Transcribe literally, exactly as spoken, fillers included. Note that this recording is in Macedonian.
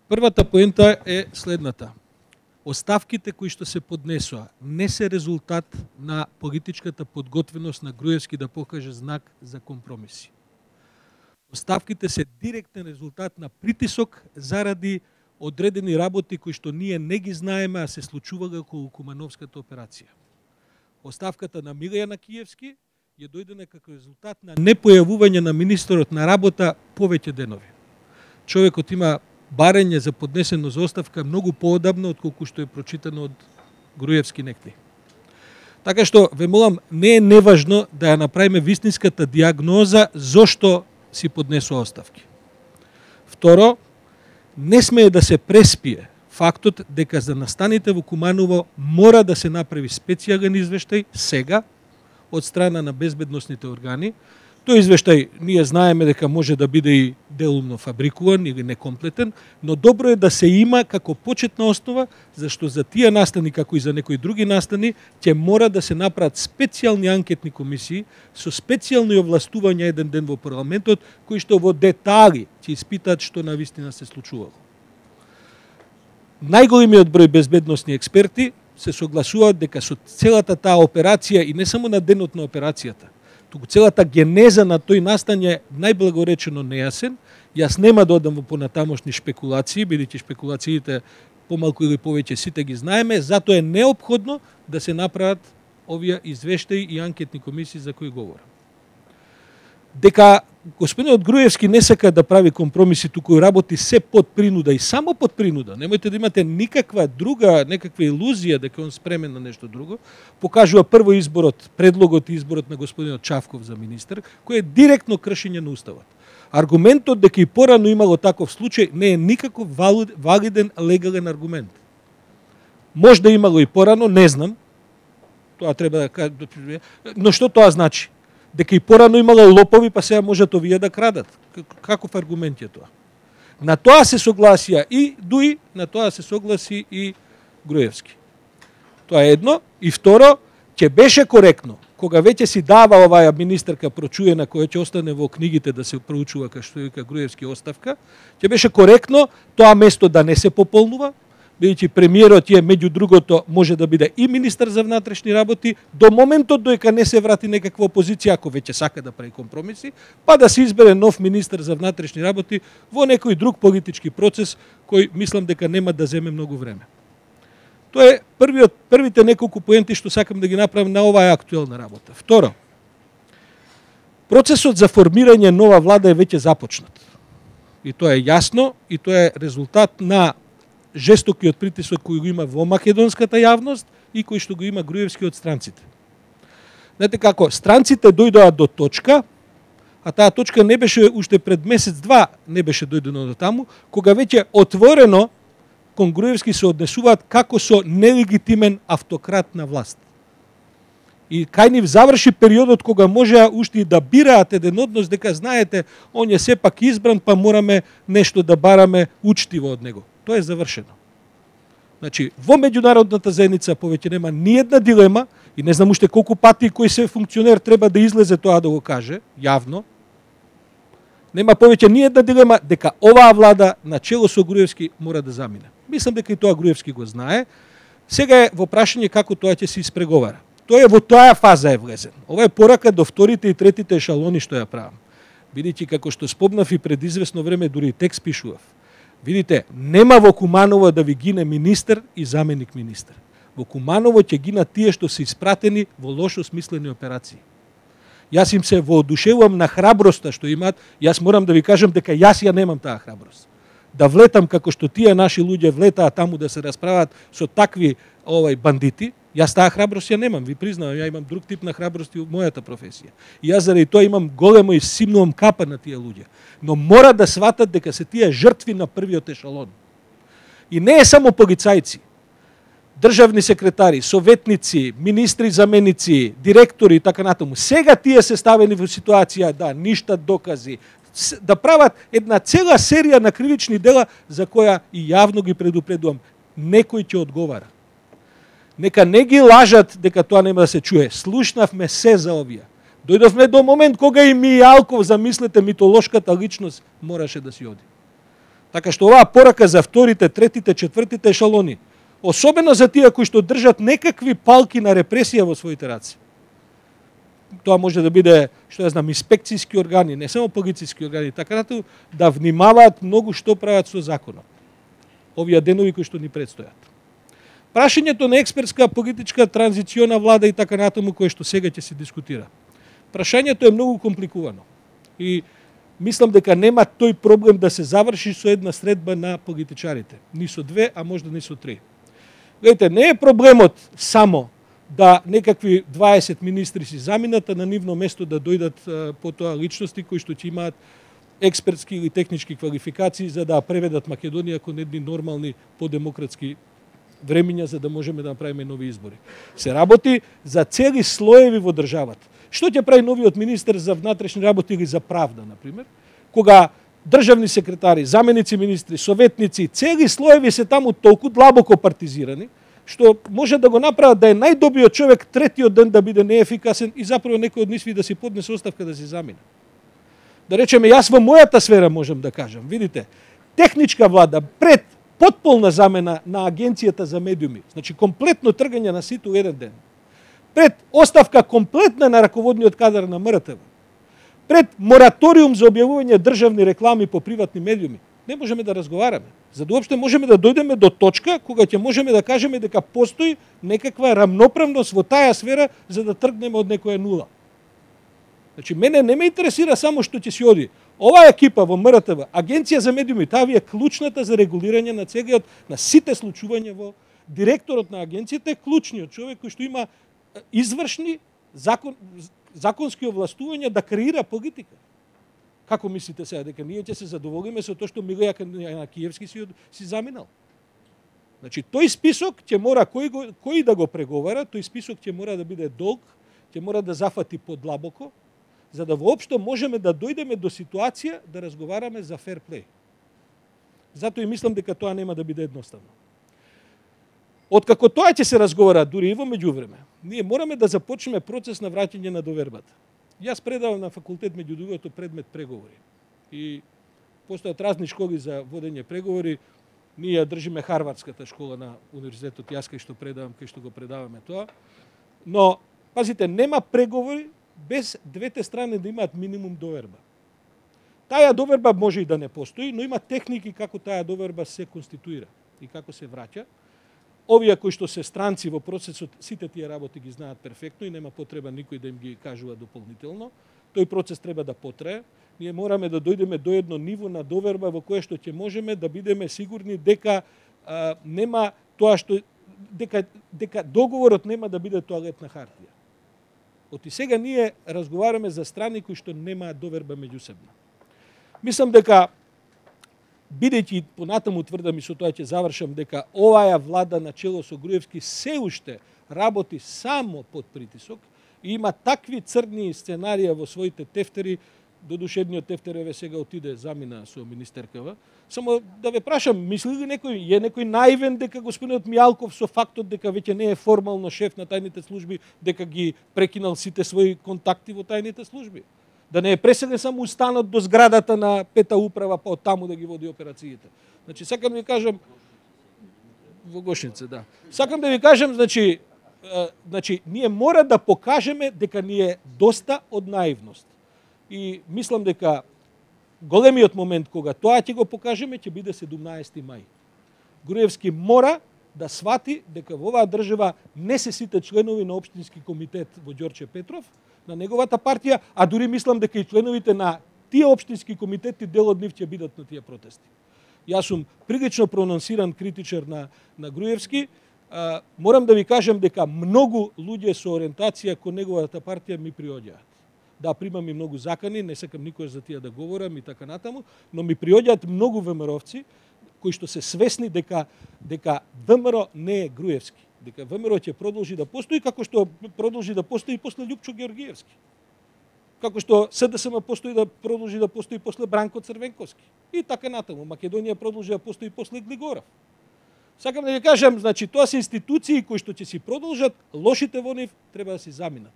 Првата поента е следната. Оставките кои што се поднесоа не се резултат на политичката подготвеност на Груевски да покаже знак за компромиси. Оставките се директен резултат на притисок заради одредени работи кои што ние не ги знаеме, а се случувага околу Кумановската операција. Оставката на Милијана Киевски ја дојдена како резултат на непојавување на министерот на работа повеќе денови. Човекот има барење за поднесено за оставка многу поодамно отколку што е прочитано од Груевски некти. Така што ве молам, не е неважно да ја направиме вистинската диагноза зошто си поднесува оставки. Второ, не смее да се преспие фактот дека за настаните во Куманово мора да се направи специјален извештај сега од страна на безбедносните органи. Тој извештај ние знаеме дека може да биде и делумно фабрикуван или некомплетен, но добро е да се има како почетна основа, зашто за тие настани, како и за некои други настани, ќе мора да се направат специјални анкетни комисии со специјални овластувања еден ден во парламентот, кои што во детали ќе испитаат што навистина се случувало. Најголемиот број безбедносни експерти се согласуваат дека со целата таа операција и не само на денот на операцијата, туку целата генеза на тој настан е најблагоречено нејасен. Јас нема да одам во понатамошни шпекулации, бидејќи шпекулациите помалку или повеќе сите ги знаеме, затоа е неопходно да се направат овие извештаи и анкетни комисии за кои говорам. Дека господинот Груевски не сака да прави компромиси, туку работи се под принуда и само под принуда. Немојте да имате никаква друга, некаква илузија дека он спремен на нешто друго. Покажува прво изборот, предлогот и изборот на господинот Чавков за министер, кој е директно кршење на уставот. Аргументот дека и порано имало таков случај не е никако валиден легален аргумент. Може да имало и порано, не знам. Тоа треба да кажа, но што тоа значи? Дека и порано имало лопови, па сега можат овие да крадат. Каков аргумент е тоа? На тоа се согласија и Дуи, на тоа се согласи и Груевски. Тоа е едно. И второ, ќе беше коректно, кога веќе си дава оваа министерка прочуена, која ќе остане во книгите да се проучува како што вика Груевски оставка, ќе беше коректно тоа место да не се пополнува, бидејќи премиерот е меѓу другото може да биде и министер за внатрешни работи до моментот доека не се врати некаква опозиција, ако веќе сака да прави компромиси, па да се избере нов министер за внатрешни работи во некој друг политички процес кој мислам дека нема да земе многу време. Тоа е првиот, првите неколку поенти што сакам да ги направам на оваа актуелна работа. Второ, процесот за формирање нова влада е веќе започнат. И тоа е јасно, и тоа е резултат на жестокиот притисок кој го има во македонската јавност и кој што го има Груевски од странците. Знаете како, странците дојдоа до точка, а таа точка не беше уште пред месец-два, не беше дојдено до таму, кога веќе отворено кон Груевски се однесуваат како со нелегитимен автократ на власт. И кај нив заврши периодот кога можеа уште и да бираат еден однос, дека знаете, он е сепак избран, па мораме нешто да бараме учтиво од него. Тоа е завршено. Значи, во меѓународната заедница повеќе нема ни една дилема и не знам уште колку пати кој се функционер треба да излезе тоа да го каже, јавно. Нема повеќе ни една дилема дека оваа влада на чело со Груевски мора да замине. Мислам дека и тоа Груевски го знае. Сега е во прашање како тоа ќе се испреговара. Тоа е во таа фаза е влезен. Ова е порака до вторите и третите ешалони што ја правам. Бидејќи како што спомнав и пред известно време дури текст пишував. Видите, нема во Куманово да ви гине министер и заменик министер. Во Куманово ќе гинат тие што се испратени во лошо смислени операции. Јас им се воодушевувам на храброста што имаат. Јас морам да ви кажам дека јас ја немам таа храброст. Да влетам како што тие наши луѓе влетаат таму да се расправат со такви овај бандити. Јас таа храброст ја немам, ви признавам, ја имам друг тип на храброст и во мојата професија. И јас заради тоа имам големо и симнувам капа на тие луѓе. Но мора да сватат дека се тие жртви на првиот ешалон. И не е само полицајци, државни секретари, советници, министри, заменици, директори и така натаму. Сега тие се ставени во ситуација да ништат докази, да прават една цела серија на кривични дела за која и јавно ги предупредувам. Некој ќе одговара. Нека не ги лажат дека тоа нема да се чуе. Слушнавме се за овие. Дојдовме до момент кога и Мијалков, замислете, митолошката личност, мораше да си оди. Така што оваа порака за вторите, третите, четвртите ешалони, особено за тие кои што држат некакви палки на репресија во своите раци. Тоа може да биде, што ја знам, инспекцијски органи, не само полициски органи, така натаму, да внимаваат многу што прават со законот. Овие денови кои што ни предстојат. Прашањето на експертска политичка транзициона влада и така натаму кое што сега ќе се дискутира. Прашањето е многу компликувано. И мислам дека нема тој проблем да се заврши со една средба на политичарите. Ни со две, а можда ни со три. Гледайте, не е проблемот само да некакви дваесет министри си заминат, а на нивно место да дојдат потоа личности кои што ќе имаат експертски или технички квалификации за да преведат Македонија кон едни нормални подемократски времиња за да можеме да направиме нови избори. Се работи за цели слоеви во државата. Што ќе прави новиот министер за внатрешни работи или за правда, например, кога државни секретари, заменици министри, советници, цели слоеви се таму толку длабоко партизирани, што може да го направат да е најдобриот човек третиот ден да биде неефикасен и заправо некој од нисви да си поднесе оставка да се замине. Да речеме, јас во мојата сфера можам да кажам, видите, техничка влада пред потполна замена на Агенцијата за медиуми, значи комплетно тргање на сите еден ден, пред оставка комплетна на раководниот кадар на М Р Т В, пред мораториум за објавување државни реклами по приватни медиуми, не можеме да разговараме. За да уопште можеме да дојдеме до точка кога ќе можеме да кажеме дека постои некаква рамноправност во таа сфера за да тргнеме од некоја нула. Значи, мене не ме интересира само што ќе си оди. Оваа екипа во М Р Т В, Агенција за медиуми, таа ви е клучната за регулирање на целиот, на сите случувања во директорот на агенцијата е клучниот човек кој што има извршни закон, законски овластувања да креира политика. Како мислите сега дека ние ќе се задоволиме со тоа што Милеја Јанакиевски си, си заминал? Значи, тој список ќе мора кој, го, кој да го преговара, тој список ќе мора да биде долг, ќе мора да зафати подлабоко, за да воопшто можеме да дојдеме до ситуација да разговараме за фер плей. Затоа и мислам дека тоа нема да биде едноставно. Откако тоа ќе се разговара, дури и во меѓувреме, ние мораме да започнеме процес на враќање на довербата. Јас предавам на факултет меѓу другото предмет преговори. И постојат разни школи за водење преговори. Ние ја држиме Харвардската школа на универзитетот, јас кај што предавам, кај што го предаваме тоа. Но, пазите, нема преговори без двете страни да имаат минимум доверба. Таа доверба може и да не постои, но има техники како таа доверба се конституира и како се враќа. Овие кои што се странци во процесот, сите тие работи ги знаат перфектно и нема потреба никој да им ги кажува дополнително. Тој процес треба да потрае. Ние мораме да дојдеме до едно ниво на доверба во кое што ќе можеме да бидеме сигурни дека а, нема тоа што дека дека договорот нема да биде тоалетна хартија. Оти сега ние разговараме за страни кои што немаат доверба меѓусебно. Мислам дека бидејќи понатаму тврдам и со тоа ќе завршам дека оваа влада на чело со Груевски се уште работи само под притисок и има такви црни сценарија во своите тефтери, додушедниот тефтер еве сега отиде замина со министеркава. Само да ве прашам, мисли ли некој, е некој наивен дека господинот Мијалков со фактот дека веќе не е формално шеф на тајните служби, дека ги прекинал сите своји контакти во тајните служби? Да не е преселен само устанот до зградата на пета управа, па од таму да ги води операциите. Значи, сакам да ви кажам, во Гошница, да. Сакам да ви кажам, значи, значи, ние мора да покажеме дека ни е доста од наивност. И мислам дека големиот момент кога тоа ќе го покажеме ќе биде седумнаесети мај. Груевски мора да свати дека во оваа држава не се сите членови на општински комитет во Ѓорче Петров, на неговата партија, а дури мислам дека и членовите на тие општински комитети дел од нив ќе бидат на тие протести. Јас сум прилично прононсиран критичар на, на Груевски. А, морам да ви кажам дека многу луѓе со ориентација кон неговата партија ми приоѓаат. Да, примам и многу закани, не сакам никој за тие да говорам и така натаму, но ми приоѓаат многу ВМРО-вци кои што се свесни дека дека ВМРО не е Груевски, дека ВМРО ќе продолжи да постои како што продолжи да постои и после Љупчо Георгиевски. Како што С Д С М постои да продолжи да постои после Бранко Црвенковски. И така натаму. Македонија продолжи да постои после Глигоров. Сакам да ви кажам, значи тоа се институции кои што ќе си продолжат, лошите во нив треба да си заминат.